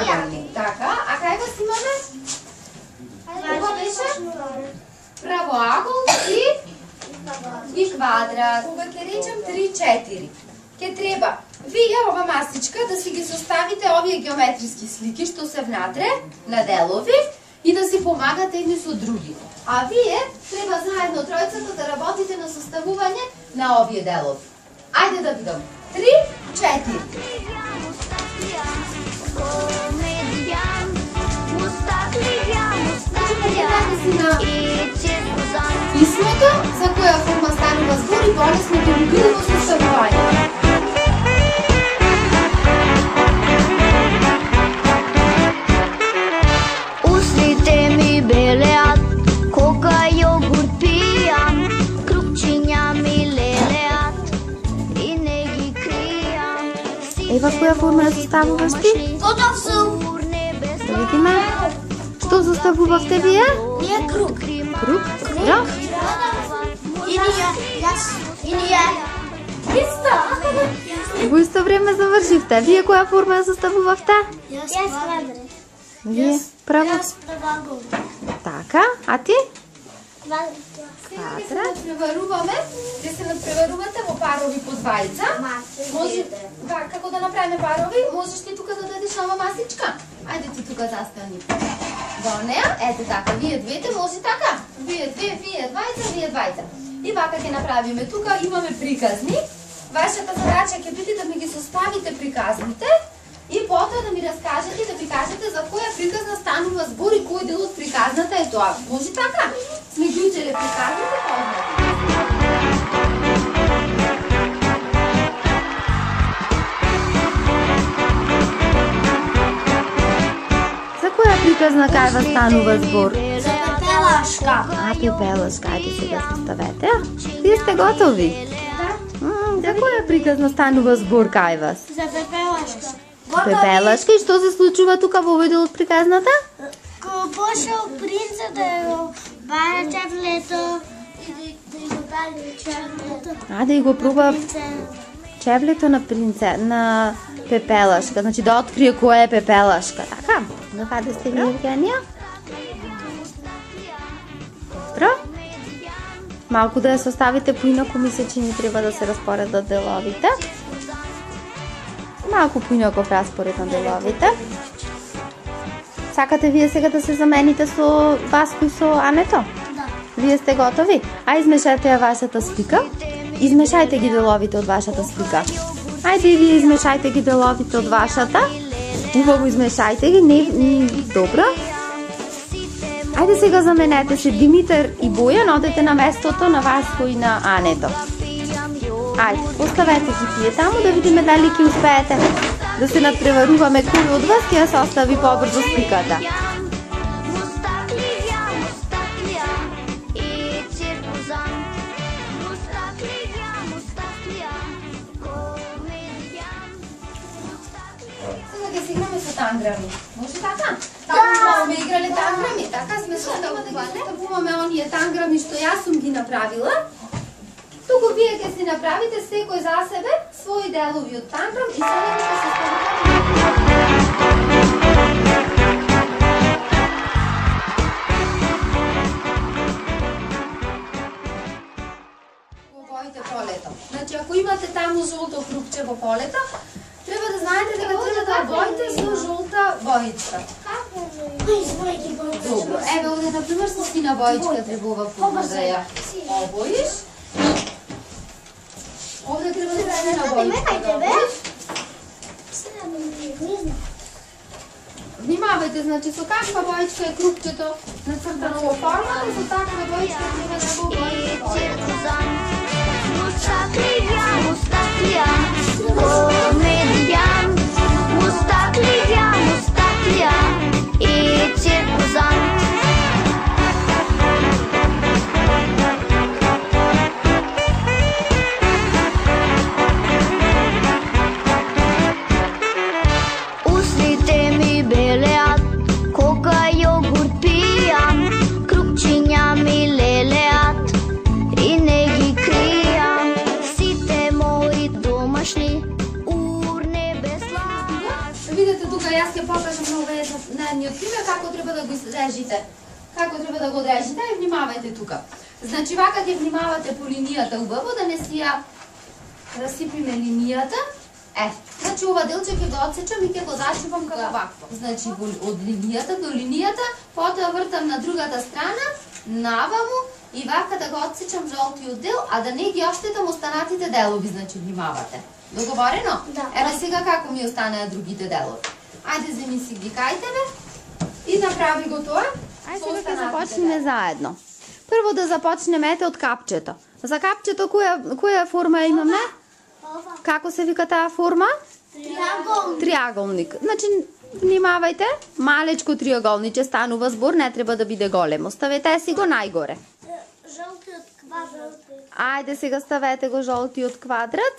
триагални. Така, а кај вас имаме? Ова беше правоагол и квадрат. Кога ќе речем 3-4, ќе треба вие ова масичка да си ги составите овие геометриски слики што се внатре на делови и да си помагате едни со други. А вие треба заедно тројцата да работите на составување на овие делови. Ајде да видам. 3-4. Писмото за која форма станува збор и полесно ќе ви биде во составување. Устните ми белеат кога јогурт пијам, крупчиња ми лелеат и не ги кријам. Ева која форма ја составуваш ти? Готов сум. Да видиме. Што составувавте вие? Ние круг. Круг? Да? И ние, јас, и ние. Исто. Во исто време завршивте. Вие која форма ја составувавте? Јас квадрат. Вие право. Јас правоагол. Така, а ти? Квадрат. Сега ќе се надпреваруваме, ќе се надпреварувате во парови по двајца. Може, како да направиме парови, можеш ти тука да дадеш нова масичка. Ајде ти тука застани. Во неа, ете така, вие двете може така. Вие две, вие двајца, вие двајца. И вака ќе направиме тука, имаме приказни. Вашата задача ќе биде да ми ги составите приказните и потоа да ми раскажете и да ми кажете за која приказна станува збор и кој дел од приказната е тоа. Може така? Сме ги учеле приказните, познати. За која приказна кај вас станува збор? За пепелашка. А, пепелашка, ајде сега составете. Вие сте готови? За која приказна станува збор кај вас? За пепелашка. Пепелашка, и што се случува тука во овој дел од приказната? Кога пошел принцот да го бара чевлето и да го дали чевлето. А, да и го пруба чевлето на на пепелашка, значи да открие која е пепелашка, така? На каде сте ви, Евгенија? Добро? Малку да ја составите поинаку, мисля, че ни треба да се распоредат деловите. Малку поинаков распоред на деловите. Сакате вие сега да се замените со Васко и со Ането? Да. Вие сте готови? А измешате ја вашата слика. Измешајте ги деловите од вашата слика. Ајде и вие измешајте ги деловите од вашата. Убаво измешајте ги, не добро. Ајде сега заменете се Димитар и Бојан, одете на местото на Васко и на Ането. Ајде, оставете ги тие таму да видиме дали ќе успеете да се надпреваруваме кој од вас ќе ја состави побрзо сликата. Сега ќе се играме со танграми. Може така? Таму сме играле танграми, така сме составуваме оние танграми што јас сум ги направила. Туку вие ќе си направите секој за себе своји делови од танграм и сега ќе се составуваме. Во боите полето. Значи ако имате таму жолто крупче во полето, треба да знаете дека треба да обоите со жолта боичка. Добро, еве овде например со сина боичка требува пулно да ја обоиш. Овде треба да се на боичка да обоиш. Внимавајте, значи со каква боичка е крупчето нацртано во формата и со таква боичка треба да го обоите. Устните ми белеат кога јогурт пијам, крупчиња ми лелеат и не ги кријам. Сите мои домашни јас ќе покажам на едниот пример како треба да го изрежите. Како треба да го одрежите, и внимавајте тука. Значи, вака ќе внимавате по линијата убаво, да не си ја расипиме линијата. Значи, ова делче ќе го отсечам и ќе го зашивам како вакво. Значи, од линијата до линијата, потоа вртам на другата страна, наваму, и вака да го отсечам жолтиот дел, а да не ги оштетам останатите делови, значи внимавате. Договорено? Да. Еве сега како ми останаа другите делови. Ајде, земи си ги кајтеве и направи го тоа. Ајде сега ќе започнеме заедно. Прво да започнеме од капчето. За капчето која форма имаме? Како се вика таа форма? Триаголник. Значи, внимавајте, малечко триаголниче станува збор, не треба да биде големо. Ставете си го најгоре. Жолтиот квадрат. Ајде сега ставете го жолтиот квадрат.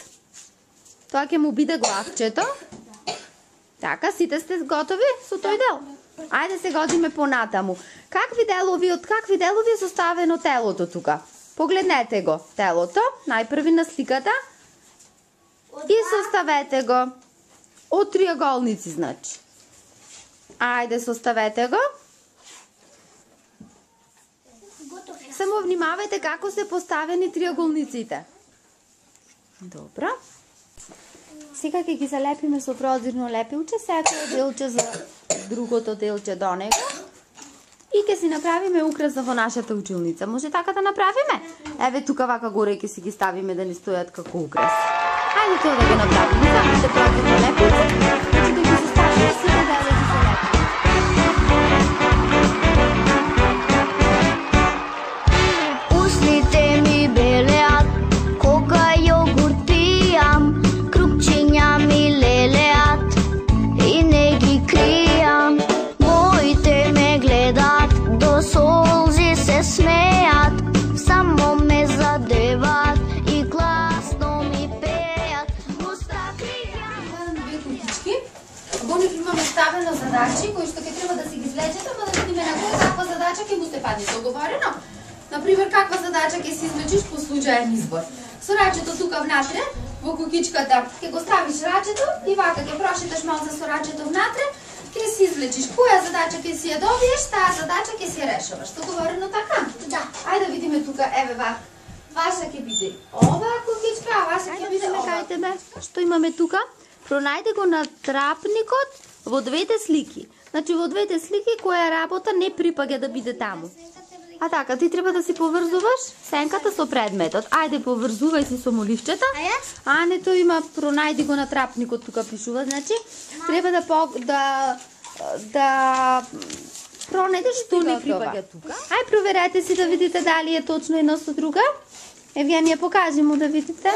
Тоа ќе му биде главчето. Така, сите сте готови со тој дел? Ајде се годиме понатаму. Какви делови е составено телото тука? Погледнете го телото, најпрви на сликата. И составете го од триаголници, значи. Ајде, составете го. Само внимавајте како се поставени триаголниците. Добро. Сега ќе ги залепиме со прозирно лепилче, секој делче за другото делче до него. И ќе си направиме украса во нашата училница. Може така да направиме? Еве тука вака горе ќе си ги ставиме да ни стојат како украс. Ајде тоа да го направиме. Замете прозирно лепилче, значи да ги составиме сите делови со лепилче. Устните ми белеат кога јогурт пијам, крупчиња ми лелеат и не ги кријам. Моите ме гледат, до солзи се смејат, само ме задеват и гласно ми пејат. Во нив имаме ставено задачи кои што ќе треба да си ги излечете, ама да видиме на која каква задача ќе му се падне. Договорено? Например, каква задача ќе си излечиш по случаен избор. Со рачето тука внатре, во кукичката, ќе го ставиш рачето и вака ќе прошеташ малце со рачето внатре, ќе си излечиш која задача ќе си ја добиеш, таа задача ќе си ја решаваш. Договорено така? Да. Ајде да видиме тука, еве вака. Ваша ќе биде ова кукичка, а ваша ќе биде ова. Кајте ме, што имаме тука? Пронајде го на трапникот во двете слики. Значи во двете слики која работа не припаѓа да биде таму. А така, ти треба да си поврзуваш сенката со предметот. Ајде, поврзувај си со моливчета. А не, тој има, пронајди го на трапникот, тука пишува. Значи, треба да пронајдеш што не припаѓа тука. Ај, проверете си да видите дали е точно едно со друга. Евгенија, покажи му да видите.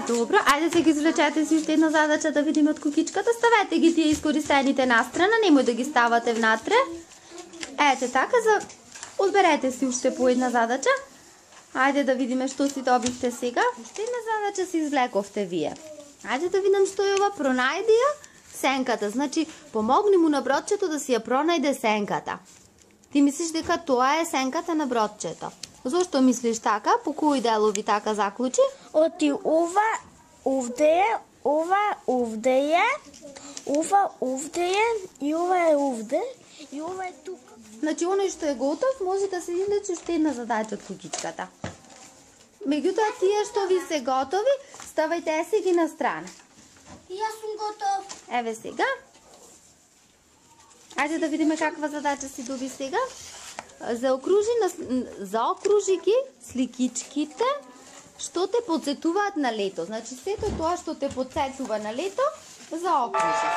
Добро, ајде се ги извлечете си уште една задача да видиме од кукичката. Ставете ги тие искористените настрана, немој да ги ставате внатре. Ете така, одберете си уште по една задача. Ајде да видиме што си добивте сега. Уште една задача си извлековте вие. Ајде да видам што е ова, пронајди ја сенката. Значи, помогни му на бродчето да си ја пронајде сенката. Ти мислиш дека тоа е сенката на бродчето. Зошто мислиш така? По кои делови така заклучи? Оти ова овде е, ова овде е, ова овде е и ова е овде и ова е тука. Значи, оној што е готов, може да се излечи уште една задача од кукичката. Меѓутоа, тие што ви се готови, ставајте се ги на страна. Јас сум готов. Еве сега. Ајде да видиме каква задача си доби сега. Заокружи ги сликичките што те подсетуваат на лето. Значи, сето тоа што те подсетува на лето, заокружи.